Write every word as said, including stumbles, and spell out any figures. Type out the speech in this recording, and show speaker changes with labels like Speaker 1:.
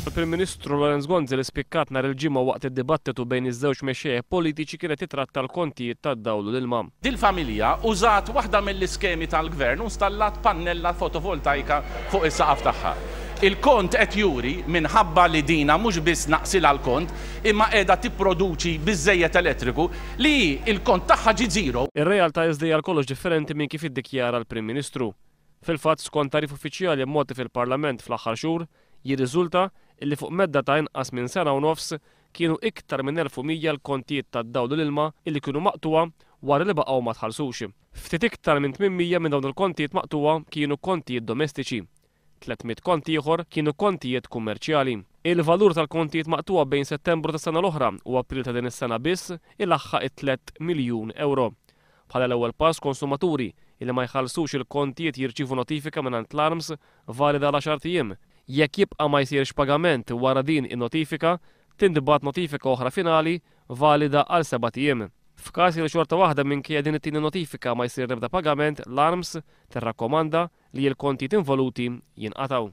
Speaker 1: Il-Prim Ministru Lawrence Gonzi li spikkat nhar il-Ġimgħa waqt id-dibattitu bejn iż-żewġ mexxejja politiċi kienet titratta l-kontijiet tad-dawl u l-ilma.
Speaker 2: Dil-familja użat waħda mill-iskemi tal-gvern u installat pannella fotovoltaika fuq is-saqaf tagħha. Il-kont qed juri minħabba li dina mhux biss naqsilha l-kont, imma qiegħda tipproduċi biżejjed elettriku li il-kont tagħha ġi zero.
Speaker 1: Ir-realtà iżda hija kollox differenti minn kif iddikjara l-Prim Ministru. Fil-fatt, skont tagħrif uffiċjali mogħti fil-Parlament fl-aħħar xhur, jirriżulta illi fuq medda ta' inqas minn sena u nofs kienu iktar minn elf u mija l-kontijiet tad-dawl u l-ilma illi kienu maqtuwa wara li baqgħu ma tħallsux. Ftit iktar minn tmien mija minn dawn il-kontijiet maqtuwa kienu kontijiet domestiċi. tliet mitt kont ieħor kienu kontijiet kummerċjali. Il-valur tal-kontijiet maqtuwa bejn Settembru tas-sena l-oħra u April ta' din is-sena biss ilaħħaq it-tliet miljun euro. Bħala l-ewwel pass, konsumaturi illi ma jħallsux il-kontijiet jirċievu notifika mingħand l-ARMS valida għal għaxart ijiem. Jekk jibqa' ma jsirx pagament wara din in-notifika, tintbagħat notifika oħra finali valida għal sebat ijiem. F'każ li xorta waħda minkejja din it-tieni notifika ma jsir ebda pagament, l-ARMS tirrakkomanda li l-kontijiet involuti jinqatgħu.